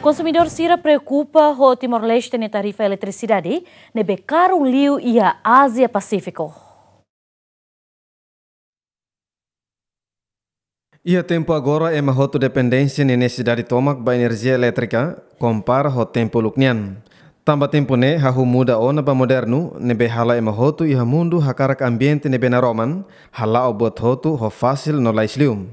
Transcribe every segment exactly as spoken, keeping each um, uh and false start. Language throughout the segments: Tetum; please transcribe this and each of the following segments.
Konsumidór sira preokupa ho Timor-Leste nia tarifa eletrisidade ne'ebé karun liu iha Ázia Pasífiku. Iha tempu agora ema hotu dependénsia nia nesesidade tomak ba enerjia elétrika, kompara ho tempu uluk nian. Tanba tempu ne'e hahú muda ona ba modernu, ne'ebé halo ema hotu iha mundu hakarak ambiente ne'ebé naroman, hala'o buat hotu ho fasil no lais liu.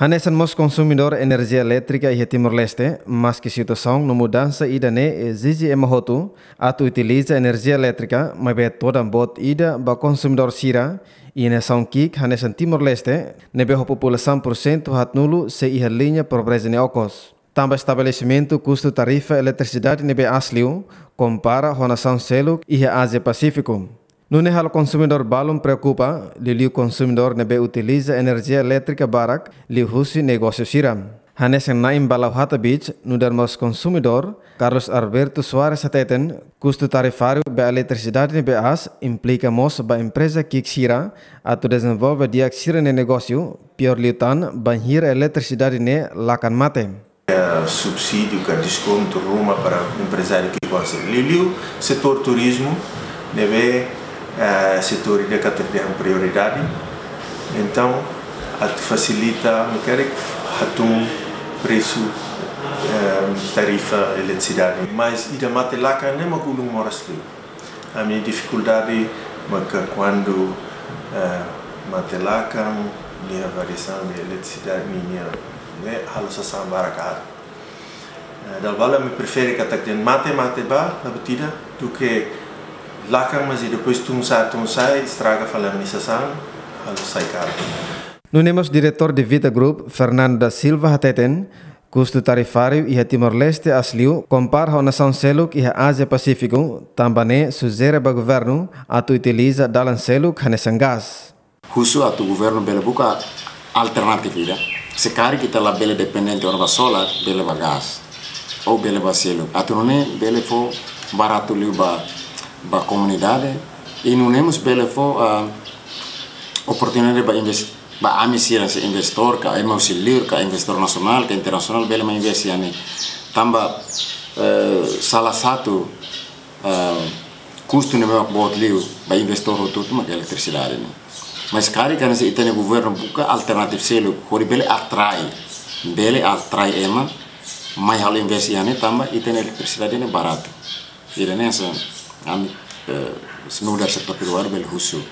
Hanesan mós konsumidór enerjia elétrika iha Timor-Leste, maski situasaun no mudansa ida-ne'e ezije ema hotu atu utiliza enerjia elétrika, maibé todan boot ida ba konsumidór sira iha nasaun ki'ik hanesan Timor-Leste, ne'ebé ho populasaun porsentu haatnulu sei iha liña pobreza nia okos. Tanba estabelesimentu kustu tarifa eletrisidade ne'ebé aas liu, kompara ho nasaun seluk iha Ázia Pasífiku. Nune'e halo konsumidór balun preokupa, liuliu konsumidór ne'ebé utiliza enerjia elétrika barak liuhusi negósiu sira. Hanesan Naim Balauhata Beach, nu'udar mós konsumidór, Carlos Alberto Soares hateten, kustu tarifáriu ba eletrisidade ne'ebé aas implika mós ba empreza ki'ik sira atu dezenvolve di'ak sira-nia negósiu, piór liután bainhira eletrisidade ne'e lakan mate. Eh, subsídiu ka deskontu ruma para emprezáriu ki'ik. Liuliu setór turizmu ne'ebé, eh, setór ida katak dehan prioridade. Entaun, atu fasilita, ami hakarak hatún presu, eh, tarifa eletrisidade. Mas ida mate lakan ne'e mak ulun moras liu. Ami-nia difikuldade maka kuandu, eh, mate lakan, nia variasaun de eletrisidade, nia, nia, ne'e halo sasán barak aat. Eh, dala balu ami prefere katak dehan mate, mate ba, la buat ida, duké lakan, mas i depois tun sa'e, tun sa'e, estraga fali ami-nia sasán, halo sai karu. Nune'e mós diretór de Vita Group, Fernando da Silva hateten, kustu tarifáriu iha Timor-Leste aas liu, kompara ho nasaun seluk iha Ázia Pasífiku, tanba ne'e sujere ba governu atu utiliza dalan seluk hanesan gás. Husu atu governu bele buka alternativa ida. Se karik ita labele dependente ona ba solar, bele ba gás. Ou bele ba seluk. Atu nune'e bele fó baratu liu ba, ba komunidade. I nune'e mós bele fó, ah, oportunidade ba inves-, ba ami sira se investór, ka ema husi liur, ka investór nasionál, ka internasionál, bele mai investe iha ne'e. Tanba, eh, salah satu, eh, kustu ne'ebé mak boot liu ba investór hotu-hotu mak eletrisidade ne'e. Mas karik hanesan ita-nia governu buka alternativa seluk, hodi bele atrai, bele atrai ema, mai halo investe iha ne'e tanba ita-nia eletrisidade ne'e baratu. Ida-ne'e hanesan ami, eh, nu'udar setór privadu bele husu.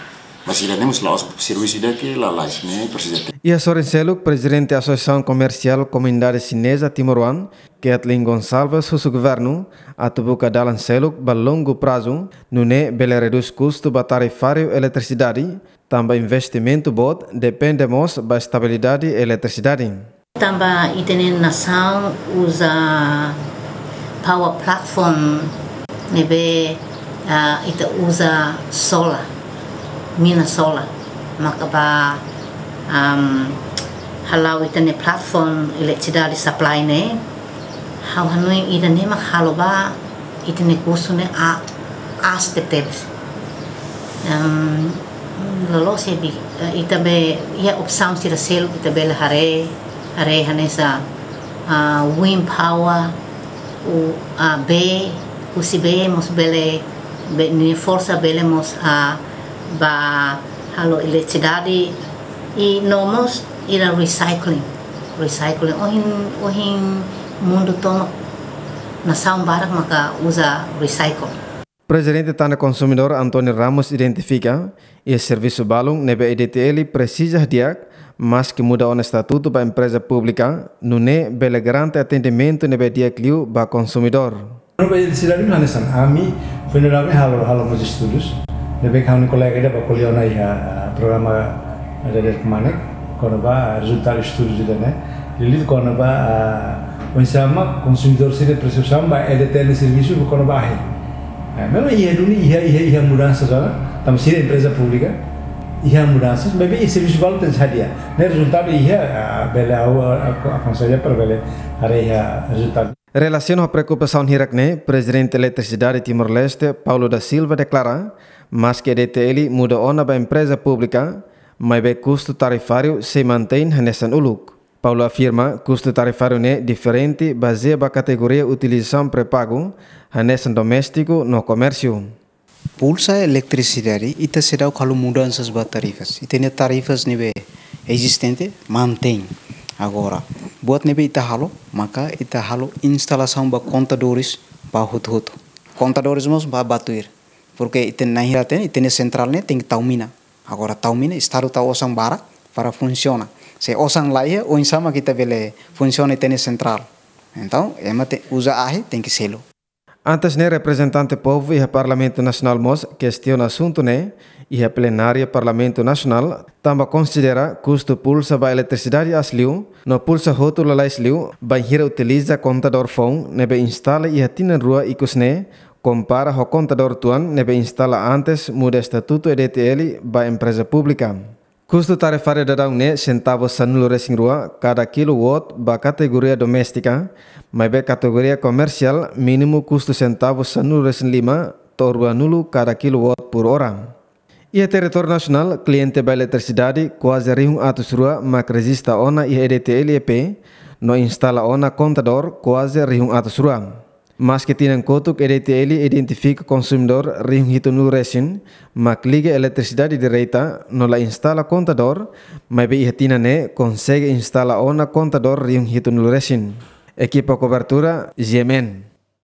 Mas ida-ne'e mós la'ós servisu ida ke lalais, ne'e presiza tempu. Iha sorin seluk, Prezidente Asosiasaun Komersiál Komunidade Xineza Timoroan, Kathleen Gonçalves husu governu atu buka dalan seluk ba longu prazu, nune'e bele redús kustu ba tarifáriu eletrisidade, tanba investimentu boot depende mós ba estabilidade eletrisidade. Tanba ita-nia nasaun uza power platform ne'ebé, ah, ita uza solar, mina solar. Maka ba, am, hala'o ita-nia platform eletrisidade supply ne'e, ha'u hanoin ida-ne'e mak halo ba ita-nia kustu ne'e a-, aas tebetebes. Em, loloos ne'ebé, eh, ita be, iha opsaun sira seluk ita bele haree, haree hanesan, ah, wind power, ou, ah, bee, husi bee mós bele, bee nia forsa bele mós, ah, ba halo eletrisidade, i no mós ida recycling. Recycling. Ohin, ohin mundu tomak nasaun barak maka uza recycle. Prezidente Tan no Konsumidór António Ramos identifika, iha servisu balun ne'ebé E D T L presiza di'ak, maski muda ona estatutu ba empreza públika, nune'e bele garante atendimentu ne'ebé di'ak liu ba konsumidór. Ba eletrisidade hanesan, ami foin daudaun ne'e halo, halo mós estudus. Ne'ebé ha'u-nia kolega ida bá ko'alia ona iha, ah, programa Ida Dadeer Kmanek, kona-ba rezultadu estudu ida-ne'e. Liuliu kona-ba, ah, oinsá mak konsumidór sira persepsaun ba E D T L servisu kona-ba ahi. Ah, memang iha duni, iha, iha, iha mudansa zona, tanba sira empreza públika, iha mudansa, maibé iha servisu balun tenke hadi'a. Ne'e rezultadu iha, ah, bele ha'u, ah, aku avansa para bele haree iha rezultadu. Relasiona ho preokupasaun hirak-ne'e, Prezidente Eletrisidade Timor-Leste, Paulo da Silva, deklara, maski E D T L muda ona ba empreza públika, maibé kustu tarifáriu sei mantein hanesan uluk. Paulo afirma, kustu tarifáriu ne'e diferente bazeia ba kategoria utilizasaun pré-pagu, hanesan doméstiku no komérsiu. Pulsa eletrisidade, ita seidauk halo mudansas ba tarifas. Ita-nia tarifas ne'ebé ezistente mantein. Agora, buat ne'ebé ita halo, maka ita halo instalasaun ba kontadores ba hotu-hotu. Kontadores mós ba, ba tuir. Porke ita na'in hira hatene, ita-nia sentrál ne'e tenke tau mina. Agora tau mina, Estadu tau osan barak para funsiona. Se osan laiha, oinsá mak ita bele funsiona ita-nia sentrál? Entaun, ema te uza ahi, tenke selu. Antes ne'e, reprezentante povu iha Parlamentu Nasionál mós kestiona asuntu ne'e iha plenária Parlamentu Nasionál, tanba konsidera kustu pulsa ba eletrisidade aas liu no pulsa hotu lalais liu bainhira utiliza kontadór foun ne'ebé instala iha tinan rua ikus ne'e, kompara ho kontadór tuan ne'ebé instala antes muda estatutu E D T L ba empreza públika. Kustu tarifáriu daudaun ne'e sentavus sanulu-resin-rua kada kilowatt ba kategoria doméstika, maibé kategoria komersiál mínimu kustu sentavus sanulu-resin-lima to'o ruanulu kada kilowatt por ora. Iha territóriu nasionál, kliente ba eletrisidade kuaze rihun atus rua mak rejista ona iha E D T L E P, no instala ona kontadór kuaze rihun atus rua. Maske tinan kotuk E D T L identifika konsumidór rihun hitunulu-resin mak liga eletrisidade direta no la instala kontadór, maibé iha tinan ne'e konsege instala ona kontadór rihun hitunulu-resin. Ekipa kobertura, G M N.